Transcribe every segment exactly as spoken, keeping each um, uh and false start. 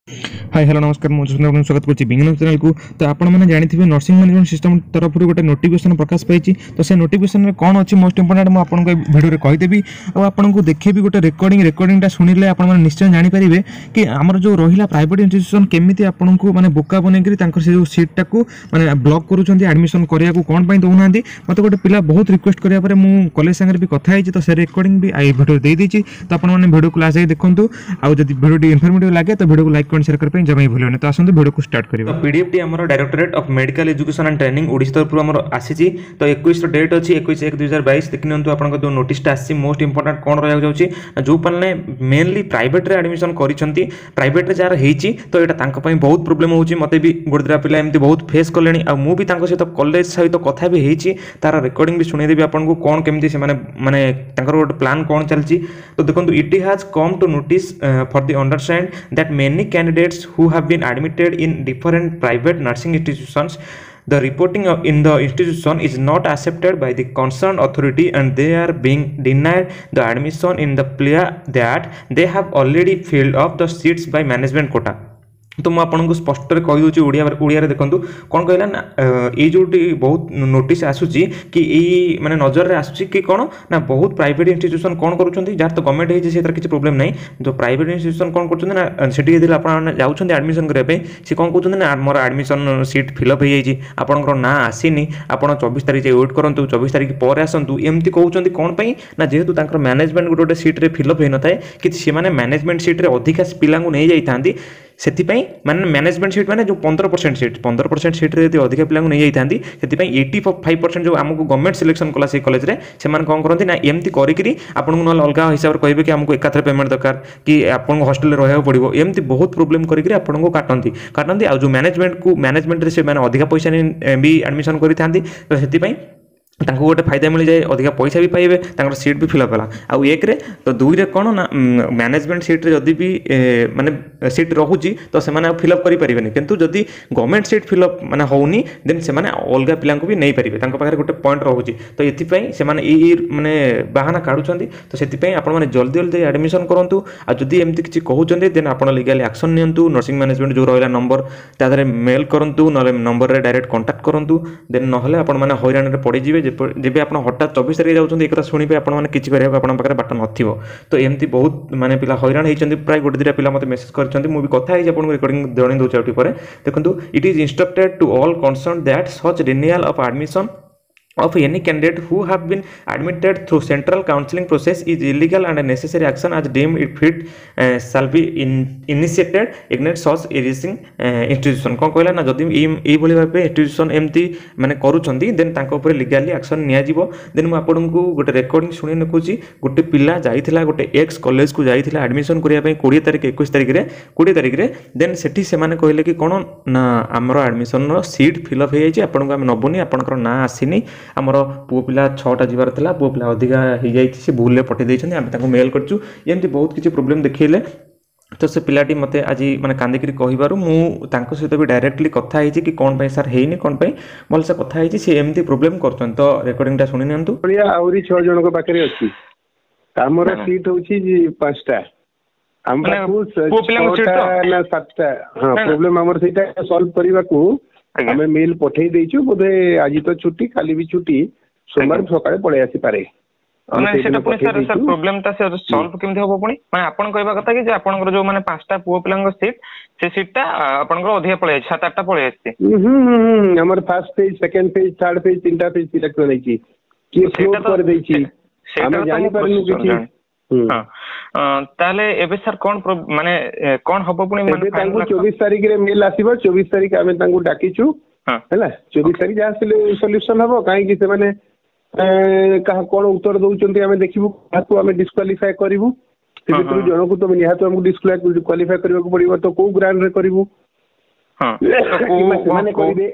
High hello ନମସ୍କାର ମୁଁ ସୁନ୍ଦର ଆପଣଙ୍କୁ ସ୍ୱାଗତ କରୁଛି ବିଜ୍ଞାନ ଚ୍ୟାନେଲକୁ ତ ଆପଣମାନେ ଜାଣିଥିବେ ନର୍ସିଂ ମ୍ୟାନେଜମେଣ୍ଟ ସିଷ୍ଟମ ତରଫରୁ ଗୋଟେ ନୋଟିଫିକେସନ୍ ପ୍ରକାଶ ପାଇଛି ତ ସେ ନୋଟିଫିକେସନରେ କ'ଣ ଅଛି ମୋଷ୍ଟ ଇମ୍ପୋର୍ଟାଣ୍ଟ ମୁଁ ଆପଣଙ୍କୁ ଏ ଭିଡ଼ିଓରେ କହିଦେବି ଆଉ ଆପଣଙ୍କୁ ଦେଖେଇବି ଗୋଟେ ରେକର୍ଡ଼ିଂ ରେକର୍ଡ଼ିଂଟା ଶୁଣିଲେ ଆପଣମାନେ ନିଶ୍ଚୟ ଜାଣିପାରିବେ କି ଆମର ଯେଉଁ ରହିଲା ପ୍ରାଇଭେଟ୍ ଇନଷ୍ଟିଟ୍ୟୁସନ୍ କେମିତି ଆପଣଙ୍କୁ ମାନେ ବୋକା ବନେଇକରି ତାଙ୍କର ସେ ଯେଉଁ ସିଟ୍ଟାକୁ ମାନେ ବ୍ଲକ୍ କରୁଛନ୍ତି ଆଡ଼ମିସନ୍ କରିବାକୁ କ'ଣ ପାଇଁ ଦେଉନାହାନ୍ତି ମୋତେ ଗୋଟେ ପିଲା ବହୁତ ରିକ୍ୱେଷ୍ଟ କରିବା ପରେ ମୁଁ କଲେଜ ସାଙ୍ଗରେ ବି କଥା ହେଇଛି ତ ସେ ରେକର୍ଡ଼ିଂ ବି ଏଇ ଭିଡ଼ିଓ ଦେଇଦେଇଛି ତ ଆପଣମାନେ ଭିଡ଼ିଓକୁ ଲାଷ୍ଟ ଯାଇ ଦେଖନ୍ତୁ ଆଉ ଯଦି ଭିଡ଼ିଓଟି ଇନଫର୍ମେଟିଭ୍ ଲାଗେ ତ ଭିଡ଼ିଓକୁ ଲାଇକ୍ କମେଣ୍ଟ ସେୟାର କରିବା ପାଇଁ ଜମା ବି ଭୁଲିବେନି ତ ଆସନ୍ତୁ ଭିଡ଼ିଓକୁ ଷ୍ଟାର୍ଟ କରିବା ତ ପିଡିଏଫ୍ଟି ଆମର Directorate of Medical Education and Training Odisha ତରଫରୁ ଆମର ଆସିଛି ତ ଏକୋଇଶର ଡେଟ୍ ଅଛି ଏକୋଇଶ ଏକ ଦୁଇ ହଜାର ବାଇଶ ଦେଖି ନିଅନ୍ତୁ ଆପଣଙ୍କ ଯେଉଁ ନୋଟିସଟା ଆସିଛି ମୋଷ୍ଟ ଇମ୍ପୋର୍ଟାଣ୍ଟ କ'ଣ ରହିବାକୁ ଯାଉଛି ନା ଯେଉଁ ପିଲାମାନେ ମେନଲି ପ୍ରାଇଭେଟ୍ରେ ଆଡ଼ମିସନ୍ କରିଛନ୍ତି ପ୍ରାଇଭେଟ୍ରେ ଯାହାର ହେଇଛି ତ ଏଇଟା ତାଙ୍କ ପାଇଁ ବହୁତ ପ୍ରୋବ୍ଲେମ୍ ହେଉଛି ମୋତେ ବି ଗୋଟେ ଦୁଇଟା ପିଲା ଏମିତି ବହୁତ ଫେସ୍ କଲେଣି ଆଉ ମୁଁ ବି ତାଙ୍କ ସହିତ କଲେଜ ସହିତ କଥା ବି ହେଇଛି ତାର ରେକର୍ଡ଼ିଂ ବି ଶୁଣେଇଦେବି ଆପଣଙ୍କୁ କ'ଣ କେମିତି ସେମାନେ ମାନେ ତାଙ୍କର ଗୋଟେ ପ୍ଲାନ୍ କ'ଣ ଚାଲିଛି ତ ଦେଖନ୍ତୁ It has come to notice for the understand that many candidates who have been admitted in different private nursing institutions the reporting of- in the institution is not accepted by the concerned authority and they are being denied the admission in the plea that they have already filled up the seats by management quota ତ ମୁଁ ଆପଣଙ୍କୁ ସ୍ପଷ୍ଟରେ କହିଦେଉଛି ଓଡ଼ିଆ ଓଡ଼ିଆରେ ଦେଖନ୍ତୁ କ'ଣ କହିଲା ନା ଏଇ ଯେଉଁଠି ବହୁତ ନୋଟିସ୍ ଆସୁଛି କି ଏଇ ମାନେ ନଜରରେ ଆସୁଛି କି କ'ଣ ନା ବହୁତ ପ୍ରାଇଭେଟ୍ ଇନଷ୍ଟିଟ୍ୟୁସନ୍ କ'ଣ କରୁଛନ୍ତି ଯାହାର ତ ଗଭର୍ଣ୍ଣମେଣ୍ଟ ହେଇଛି ସେଥିରେ କିଛି ପ୍ରୋବ୍ଲେମ୍ ନାହିଁ ଯେଉଁ ପ୍ରାଇଭେଟ୍ ଇନଷ୍ଟିଟ୍ୟୁସନ୍ କ'ଣ କରୁଛନ୍ତି ନା ସେଠି ଯେତେବେଳେ ଆପଣମାନେ ଯାଉଛନ୍ତି ଆଡ଼ମିସନ୍ କରିବା ପାଇଁ ସେ କ'ଣ କହୁଛନ୍ତି ନା ଆମର ଆଡ଼ମିସନ୍ ସିଟ୍ ଫିଲ୍ଅପ୍ ହେଇଯାଇଛି ଆପଣଙ୍କର ନାଁ ଆସିନି ଆପଣ ଚବିଶ ତାରିଖ ଯାଏ ୱେଟ୍ କରନ୍ତୁ ଚବିଶ ତାରିଖ ପରେ ଆସନ୍ତୁ ଏମିତି କହୁଛନ୍ତି କ'ଣ ପାଇଁ ନା ଯେହେତୁ ତାଙ୍କର ମ୍ୟାନେଜମେଣ୍ଟ ଗୋଟେ ଗୋଟେ ସିଟ୍ରେ ଫିଲ୍ଅପ୍ ହେଇନଥାଏ କି ସେମାନେ ମ୍ୟାନେଜମେଣ୍ଟ ସିଟ୍ରେ ଅଧିକା ପିଲାଙ୍କୁ ନେଇଯାଇଥାନ୍ତି ସେଥିପାଇଁ ମାନେ ମ୍ୟାନେଜମେଣ୍ଟ ସିଟ୍ ମାନେ ଯେଉଁ ପନ୍ଦର ପରସେଣ୍ଟ ସିଟ୍ ପନ୍ଦର ପରସେଣ୍ଟ ସିଟ୍ରେ ଯଦି ଅଧିକା ପିଲାଙ୍କୁ ନେଇଯାଇଥାନ୍ତି ସେଥିପାଇଁ ଏଇଟି ଫାଇଭ୍ ପରସେଣ୍ଟ ଯେଉଁ ଆମକୁ ଗଭର୍ଣ୍ଣମେଣ୍ଟ ସିଲେକ୍ସନ୍ କଲା ସେଇ କଲେଜରେ ସେମାନେ କ'ଣ କରନ୍ତି ନା ଏମିତି କରିକିରି ଆପଣଙ୍କୁ ନହେଲେ ଅଲଗା ହିସାବରେ କହିବେ କି ଆମକୁ ଏକାଥରେ ପେମେଣ୍ଟ ଦରକାର କି ଆପଣଙ୍କୁ ହଷ୍ଟେଲରେ ରହିବାକୁ ପଡ଼ିବ ଏମିତି ବହୁତ ପ୍ରୋବ୍ଲେମ୍ କରିକିରି ଆପଣଙ୍କୁ କାଟନ୍ତି କାଟନ୍ତି ଆଉ ଯେଉଁ ମ୍ୟାନେଜମେଣ୍ଟକୁ ମ୍ୟାନେଜମେଣ୍ଟରେ ସେମାନେ ଅଧିକା ପଇସା ନେଇ ବି ଆଡ଼ମିସନ୍ କରିଥାନ୍ତି ତ ସେଥିପାଇଁ ତାଙ୍କୁ ଗୋଟେ ଫାଇଦା ମିଳିଯାଏ ଅଧିକା ପଇସା ବି ପାଇବେ ତାଙ୍କର ସିଟ୍ ବି ଫିଲ୍ଅପ୍ ହେଲା ଆଉ ଏକରେ ତ ଦୁଇରେ କ'ଣ ନା ମ୍ୟାନେଜମେଣ୍ଟ ସିଟ୍ରେ ଯଦି ବି ଏ, ମାନେ ସିଟ୍ ରହୁଛି ତ ସେମାନେ ଆଉ ଫିଲ୍ଅପ୍ କରିପାରିବେନି କିନ୍ତୁ ଯଦି ଗଭର୍ଣ୍ଣମେଣ୍ଟ ସିଟ୍ ଫିଲ୍ଅପ୍ ମାନେ ହେଉନି ଦେନ୍ ସେମାନେ ଅଲଗା ପିଲାଙ୍କୁ ବି ନେଇପାରିବେ ତାଙ୍କ ପାଖରେ ଗୋଟେ ପଏଣ୍ଟ ରହୁଛି ତ ଏଥିପାଇଁ ସେମାନେ ଏଇ ଏଇ ମାନେ ବାହାନା କାଢ଼ୁଛନ୍ତି ତ ସେଥିପାଇଁ ଆପଣମାନେ ଜଲ୍ଦି ଜଲ୍ଦି ଆଡ଼ମିସନ୍ କରନ୍ତୁ ଆଉ ଯଦି ଏମିତି କିଛି କହୁଛନ୍ତି ଦେନ୍ ଆପଣ ଲିଗାଲି ଆକ୍ସନ୍ ନିଅନ୍ତୁ ନର୍ସିଂ ମ୍ୟାନେଜମେଣ୍ଟ ଯେଉଁ ରହିଲା ନମ୍ବର ତା ଦେହରେ ମେଲ୍ କରନ୍ତୁ ନହେଲେ ନମ୍ବରରେ ଡାଇରେକ୍ଟ କଣ୍ଟାକ୍ଟ କରନ୍ତୁ ଦେନ୍ ନହେଲେ ଆପଣମାନେ ହଇରାଣରେ ପଡ଼ିଯିବେ ଯେପ- ଯେବେ ଆପଣ ହଠାତ୍ ଚବିଶ ତାରିଖ ଯାଉଛନ୍ତି ଏ କଥା ଶୁଣିବେ ଆପଣମାନେ କିଛି କରିବାକୁ ଆପଣଙ୍କ ପାଖରେ ବାଟ ନଥିବ ତ ଏମିତି ବହୁତ ମାନେ ପିଲା ହଇରାଣ ହେଇଛନ୍ତି ପ୍ରାୟ ଗୋଟେ ଦୁଇଟା ପିଲା ମୋତେ ମେସେଜ୍ କରିଛନ୍ତି ମୁଁ ବି କଥା ହେଇଛି ଆପଣଙ୍କୁ ରେକର୍ଡ଼ିଂ ଜଣେଇ ଦେଉଛି ଆଉ ଟିକେ ପରେ ଦେଖନ୍ତୁ It is instructed to all concerned that such denial of admission of any candidate who have been admitted through central counseling process is illegal and necessary action as deemed it fit uh, shall be in, initiated against such erring uh, institution କ'ଣ କହିଲା ନା ଯଦି ଏଇ ଏଇଭଳି ଭାବେ institution ଏମିତି ମାନେ କରୁଛନ୍ତି ଦେନ୍ ତାଙ୍କ ଉପରେ ଲିଗାଲି ଆକ୍ସନ୍ ନିଆଯିବ ଦେନ୍ ମୁଁ ଆପଣଙ୍କୁ ଗୋଟେ ରେକର୍ଡ଼ିଂ ଶୁଣି ରଖୁଛି ଗୋଟେ ପିଲା ଯାଇଥିଲା ଗୋଟେ ଏକ୍ସ କଲେଜକୁ ଯାଇଥିଲା ଆଡ଼ମିସନ୍ କରିବା ପାଇଁ କୋଡ଼ିଏ ତାରିଖ ଏକୋଇଶ ତାରିଖରେ କୋଡ଼ିଏ ତାରିଖରେ ଦେନ୍ ସେଠି ସେମାନେ କହିଲେ କି କ'ଣ ନା ଆମର ଆଡ଼ମିସନ୍ର ସିଟ୍ ଫିଲ୍ଅପ୍ ହେଇଯାଇଛି ଆପଣଙ୍କୁ ଆମେ ନେବୁନି ଆପଣଙ୍କର ନାଁ ଆସିନି ଆମର ପୁଅ ପିଲା ଛଅଟା ଯିବାର ଥିଲା ପୁଅ ପିଲା ଅଧିକା ହେଇଯାଇଛି ସେ ଭୁଲରେ ପଠାଇ ଦେଇଛନ୍ତି ଆମେ ତାଙ୍କୁ ମେଲ୍ କରିଛୁ ଏମିତି ବହୁତ କିଛି ପ୍ରୋବ୍ଲେମ୍ ଦେଖେଇଲେ ତ ସେ ପିଲାଟି ମୋତେ ଆଜି ମାନେ କାନ୍ଦିକିରି କହିବାରୁ ମୁଁ ତାଙ୍କ ସହିତ ବି ଡାଇରେକ୍ଟଲି କଥା ହେଇଛି କି କ'ଣ ପାଇଁ ସାର୍ ହେଇନି କ'ଣ ପାଇଁ ଭଲସେ କଥା ହେଇଛି ସେ ଏମିତି ପ୍ରୋବ୍ଲେମ୍ କରୁଛନ୍ତି ତ ରେକର୍ଡ଼ିଂଟା ଶୁଣି ନିଅନ୍ତୁ ଭଳିଆ ଆହୁରି ଛଅ ଜଣଙ୍କ ପାଖରେ ଅଛି ଆମର ନା। ସିଟ୍ ହଉଛି ପାଞ୍ଚଟା ଆମ ମାନେ ପାଖକୁ ପୁଅ ପିଲାଙ୍କ ସିଟ୍ ଛଅଟା ତ? ନା ସାତଟା ହଁ ନା, ନା। ପ୍ରୋବ୍ଲେମ ଆମର ସେଇଟା ସଲ୍ଭ କରିବାକୁ ଆଜ୍ଞା। ଆମେ ମେଲ୍ ପଠେଇ ଦେଇଛୁ ବୋଧେ ଆଜି ତ ଛୁଟି କାଲି ବି ଛୁଟି ସୋମବାର ଆଜ୍ଞା। ସକାଳେ ପଳେଇ ଆସିପାରେ ଆମେ ନାଇଁ ସେଇଦିନ ସେଟା ପୁଣି ପଠେଇ ସାର୍ ସାର୍ ଦେଇଛୁ ପ୍ରୋବ୍ଲେମ ଟା ସେ ସଲ୍ଭ କେମିତି ହବ ପୁଣି ମାନେ ଆପଣ କହିବା କଥା କି ଯେ ଆପଣଙ୍କର ଯୋଉ ମାନେ ପାଞ୍ଚଟା ପୁଅ ପିଲାଙ୍କ ସିଟ୍ ସେ ସିଟ୍ ଟା ଆ, ଆପଣଙ୍କର ଅଧିକା ପଳେଇ ଯାଇଛି ସାତ ଆଠଟା ପଳେଇ ଆସିଛି ହୁଁ ହୁଁ ହୁଁ ଆମର first phase second phase third phase ତିନିଟା ଫେଜ୍ ସିଲେକ୍ସନ ହେଇଛି କିଏ ସେଇଟା ଫ୍ଲୋଟ୍ ତ କରିଦେଇଛି ସେଇଟା ଆମେ ତ ମୁଁ ଜାଣିପାରୁନୁ process କିଛି ଜାଣି ହୁଁ। ହଁ ଅ, ତାହେଲେ ଏବେ ସାର୍ କଣ ପ୍ରୋ- ମାନେ ଏ, କଣ ହବ ପୁଣି ମାନେ ଏବେ ତାଙ୍କୁ ଫାଇନାଲ ଚବିଶ ତାରିଖରେ ମେଲ୍ ଆସିବ ଚବିଶ ତାରିଖ ଆମେ ତାଙ୍କୁ ଡାକିଛୁ ହଁ ହେଲା ଚବିଶ ତାରିଖ ଯାହା ସଲ୍ୟୁସନ ହବ କାହିଁକି ସେମାନେ ଏ, କାହା କଣ ଉତ୍ତର ଦଉଛନ୍ତି ଆମେ ଦେଖିବୁ କାହାକୁ ଆମେ ଡିସ୍କ୍ୱାଲିଫାଏ କରିବୁ ସେ ହଁ, ଭିତରୁ ହଁ। ଜଣକୁ ତ ନିହାତି ଆମକୁ ଡିସ୍କ୍ୱାଲିଫାଏ କରିବାକୁ ପଡିବ ତ କୋଉ ଗ୍ରାଉଣ୍ଡରେ କରିବୁ ହଁ ତ କୋଉ କିମ୍ବା ସେମାନେ କୋଉ କରିବେ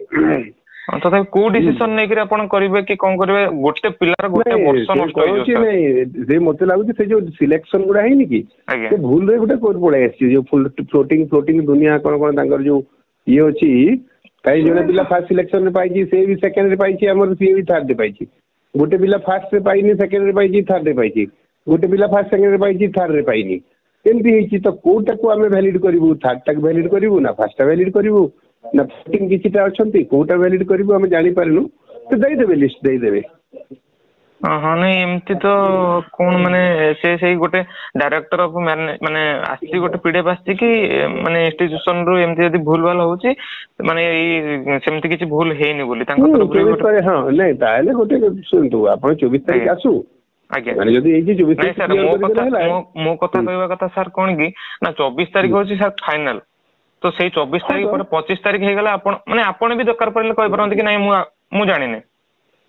ହଁ, ତଥାପି କୋଉ ଡିସିସନ ନେଇକିରି ଆପଣ କରିବେ କି କଣ କରିବେ ଗୋଟେ ପିଲାର ଗୋଟେ ନାଇଁ, ବର୍ଷ ସେ ନଷ୍ଟ ହେଇଯିବ କହୁଛି ସାର୍ ନାଇଁ ସେ ମତେ ଲାଗୁଛି ସେ ଯୋଉ ସିଲେକ୍ସନ ଗୁଡା ହେଇନି କି ଆଜ୍ଞା ସେ ଭୁଲରେ ଗୋଟେ କୋଉଠି ପଳେଇ ଆସିଛି ଯୋଉ ଫ୍ଲୋଟିଂ ଫ୍ଲୋଟିଂ ଦୁନିଆ କଣ କଣ ତାଙ୍କର ଯୋଉ ଇଏ ଅଛି କାହିଁ ଜଣେ ପିଲା ଫାର୍ଷ୍ଟ ସିଲେକ୍ସନରେ ପାଇଛି ସେ ବି ସେକେଣ୍ଡରେ ପାଇଛି ଆମର ସିଏ ବି ଥାର୍ଡରେ ପାଇଛି ଗୋଟେ ପିଲା ଫାର୍ଷ୍ଟରେ ପାଇନି ସେକେଣ୍ଡରେ ପାଇଛି ଥାର୍ଡରେ ପାଇଛି ଗୋଟେ ପିଲା ଫାର୍ଷ୍ଟ ସେକେଣ୍ଡରେ ପାଇଛି ଥାର୍ଡରେ ପାଇନି ଏମିତି ହେଇଛି ତ କୋଉଟାକୁ ଆମେ ଭ୍ୟାଲିଡ୍ କରିବୁ ଥାର୍ଡଟାକୁ ଭ୍ୟାଲିଡ୍ କରିବୁ ନା ଫାର୍ଷ୍ଟଟା ଭ୍ୟାଲିଡ୍ କରିବୁ ନା ଫ୍ଲୋଟିଂ କିଛିଟା ଅଛନ୍ତି କୋଉଟା ଭ୍ୟାଲିଡ୍ କରିବୁ ଆମେ ଜାଣିପାରିନୁ ତ ଦେଇଦେବେ ଲିଷ୍ଟ ଦେଇଦେବେ ହଁ ହଁ ନାଇଁ ଏମିତି ତ କଣ ମାନେ ସେ ସେଇ ଗୋଟେ ଡାଇରେକ୍ଟର ଅଫ ମାନେ ଆସିଛି ଗୋଟେ ପିଡିଏଫ ଆସିଛି କି ମାନେ ଇନଷ୍ଟିଟ୍ୟୁସନ ରୁ ଏମିତି ଯଦି ଭୁଲ ଭାଲ ହଉଛି ମାନେ ଏଇ ସେମିତି କିଛି ଭୁଲ ହେଇନି ବୋଲି ତାଙ୍କ ହୁଁ ତରଫରୁ ଚବିଶ ଗୋଟେ ତାରିଖ ହଁ ନାଇଁ ତାହେଲେ ଗୋଟେ ଶୁଣନ୍ତୁ ଆପଣ ଚବିଶ ତାରିଖ ଆଜ୍ଞା। ଆସୁ ଆଜ୍ଞା ମାନେ ଯଦି ହେଇଛି ଚବିଶ ନାଇଁ ତାରିଖ ସାର୍ କ୍ଲିୟର ମୋ କରିଦେଲେ କଥା ହେଲା ମୋ ମୋ କଥା ହୁଁ। କହିବା କଥା ସାର୍ କଣ କି ନା ଚବିଶ ତାରିଖ ହଉଛି ସାର୍ ଫାଇନାଲ ତ ସେଇ ଚବିଶ ହଁ ତାରିଖ ତ ପରେ ପଚିଶ ତାରିଖ ହେଇଗଲା ଆପଣ ମାନେ ଆପଣ ବି ଦରକାର ପଡ଼ିଲେ କହିପାରନ୍ତି କି ନାଇଁ ମୁଁ ମୁଁ ଜାଣିନି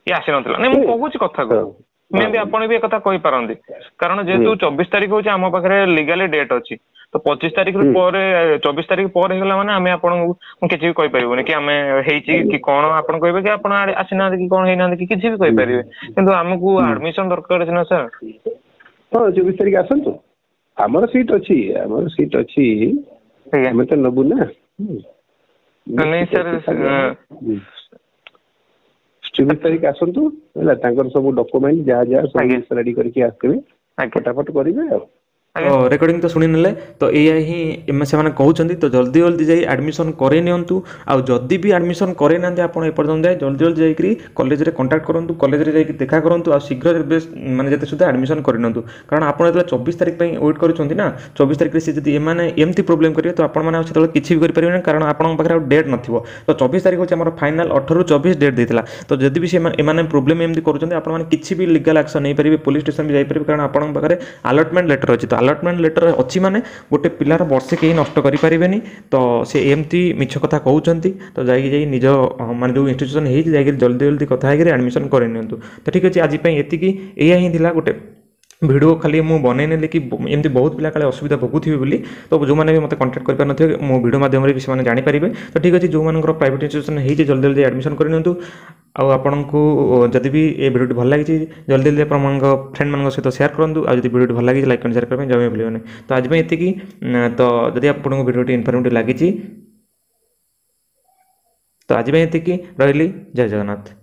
ଇଏ ଆସିନଥିଲା ନାଇଁ ମୁଁ ହୁଁ। କହୁଛି କଥାକୁ ହଁ ମେ ବି ହଁ ଆପଣ ବି ଏକଥା କହିପାରନ୍ତି କାରଣ ଯେହେତୁ ହୁଁ ଚବିଶ ତାରିଖ ହଉଛି ଆମ ପାଖରେ ଲିଗାଲି ଡେଟ୍ ଅଛି ତ ପଚିଶ ତାରିଖରୁ ହୁଁ ପରେ ଚବିଶ ତାରିଖ ପରେ ହେଇଗଲା ମାନେ ଆମେ ଆପଣଙ୍କୁ କିଛି ବି କହିପାରିବୁନି କି ଆମେ ହେଇଛି କି କଣ ଆପଣ କହିବେ କି ଆପଣ ଆଡେ ଆସିନାହାନ୍ତି କି କଣ ହେଇନାହାନ୍ତି କି କିଛି ବି ହୁଁ କହିପାରିବେ କିନ୍ତୁ ଆମକୁ ହୁଁ ଆଡମିସନ ଦରକାର ଅଛି ନା ସାର୍ ହଁ ଚବିଶ ତାରିଖ ଆସନ୍ତୁ ଆମର ସିଟ୍ ଅଛି ଆମର ସିଟ୍ ଅଛି ଆଜ୍ଞା ଆମେ ତ ନେବୁ ନା ହୁଁ। ନାଇଁ ସିଟ୍ ସାର୍ ଅଛି ଖାଲି ହୁଁ। ଚବିଶ ତାରିଖ ଆସନ୍ତୁ ହେଲା ତାଙ୍କର ସବୁ ଡକୁମେଣ୍ଟ ଯାହା ଯାହା ସବୁ ଆଜ୍ଞା ଜିନିଷ ରେଡି କରିକି ଆସିଥିବେ ଆଜ୍ଞା ଫଟାଫଟ କରିବେ ଆଉ ତ ଆଜ୍ଞା ରେକର୍ଡ଼ିଂ ତ ଶୁଣିନେଲେ ତ ଏଇଆ ହିଁ ଏମେ ସେମାନେ କହୁଛନ୍ତି ତ ଜଲ୍ଦି ଜଲ୍ଦି ଯାଇ ଆଡ଼ମିସନ୍ କରେଇ ନିଅନ୍ତୁ ଆଉ ଯଦି ବି ଆଡ଼ମିସନ୍ କରେଇ ନାହାନ୍ତି ଆପଣ ଏପର୍ଯ୍ୟନ୍ତ ଯାଏ ଜଲ୍ଦି ଜଲ୍ଦି ଯାଇକରି କଲେଜରେ କଣ୍ଟାକ୍ଟ କରନ୍ତୁ କଲେଜରେ ଯାଇକି ଦେଖା କରନ୍ତୁ ଆଉ ଶୀଘ୍ର ବେଶ ମାନେ ଯେତେ ସୁଦ୍ଧା ଆଡ଼ମିସନ୍ କରିନିଅନ୍ତୁ କାରଣ ଆପଣ ଯେତେବେଳେ ଚବିଶ ତାରିଖ ପାଇଁ ୱେଟ୍ କରୁଛନ୍ତି ନା ଚବିଶ ତାରିଖରେ ସେ ଯଦି ଏମାନେ ଏମିତି ପ୍ରୋବ୍ଲେମ୍ କରିବେ ତ ଆପଣମାନେ ଆଉ ସେତେବେଳେ କିଛି ବି କରିପାରିବେନି କାରଣ ଆପଣଙ୍କ ପାଖରେ ଆଉ ଡେଟ୍ ନଥିବ ତ ଚବିଶ ତାରିଖ ହେଉଛି ଆମର ଫାଇନାଲ୍ ଅଠରରୁ ଚବିଶ ଡେଟ୍ ଦେଇଥିଲା ତ ଯଦି ବି ସେମାନେ ଏମାନେ ପ୍ରୋବ୍ଲେମ୍ ଏମିତି କରୁଛନ୍ତି ଆପଣମାନେ କିଛି ବି ଲିଗାଲ୍ ଆକ୍ସନ୍ ନେଇପାରିବେ ପୋଲିସ୍ ଷ୍ଟେସନ୍ ବି ଯାଇପାରିବେ କାରଣ ଆପଣଙ୍କ ପାଖରେ ଆଲଟମେଣ୍ଟ ଲେଟର୍ ଅଛି ତ ଆଲଟମେଣ୍ଟ ଲେଟର୍ ଅଛି ମାନେ ଗୋଟେ ପିଲାର ବର୍ଷେ କେହି ନଷ୍ଟ କରିପାରିବେନି ତ ସେ ଏମିତି ମିଛ କଥା କହୁଛନ୍ତି ତ ଯାଇକି ଯାଇ ନିଜ ମାନେ ଯେଉଁ ଇନଷ୍ଟିଟ୍ୟୁସନ୍ ହେଇଛି ଯାଇକରି ଜଲ୍ଦି ଜଲ୍ଦି କଥା ହେଇକରି ଆଡ଼ମିସନ୍ କରିନିଅନ୍ତୁ ତ ଠିକ୍ ଅଛି ଆଜି ପାଇଁ ଏତିକି ଏଇଆ ହିଁ ଥିଲା ଗୋଟେ ଭିଡ଼ିଓ ଖାଲି ମୁଁ ବନେଇ ନେଲି କି ଏମିତି ବହୁତ ପିଲା କାଳେ ଅସୁବିଧା ଭୋଗୁଥିବେ ବୋଲି ତ ଯେଉଁମାନେ ବି ମୋତେ କଣ୍ଟାକ୍ଟ କରିପାରୁନଥିବେ ମୋ ଭିଡ଼ିଓ ମାଧ୍ୟମରେ ବି ସେମାନେ ଜାଣିପାରିବେ ତ ଠିକ୍ ଅଛି ଯେଉଁମାନଙ୍କର ପ୍ରାଇଭେଟ୍ ଇନଷ୍ଟିଟ୍ୟୁସନ୍ ହେଇଛି ଜଲ୍ଦି ଜଲ୍ଦି ଆଡ଼ମିସନ୍ କରିନିଅନ୍ତୁ ଆଉ ଆପଣଙ୍କୁ ଯଦି ବି ଏ ଭିଡ଼ିଓଟି ଭଲ ଲାଗିଛି ଜଲ୍ଦି ଜଲ୍ଦି ଆପଣଙ୍କ ଫ୍ରେଣ୍ଡମାନଙ୍କ ସହିତ ସେୟାର କରନ୍ତୁ ଆଉ ଯଦି ଭିଡ଼ିଓଟି ଭଲ ଲାଗିଛି ଲାଇକ୍ କମେଣ୍ଟ ସେୟାର କରିବା ପାଇଁ ଜମା ବି ଭୁଲିବେନି ତ ଆଜି ପାଇଁ ଏତିକି ତ ଯଦି ଆପଣଙ୍କୁ ଭିଡ଼ିଓଟି ଇନଫର୍ମେଟିଭ୍ ଲାଗିଛି ତ ଆଜି ପାଇଁ ଏତିକି ରହିଲି ଜୟ ଜଗନ୍ନାଥ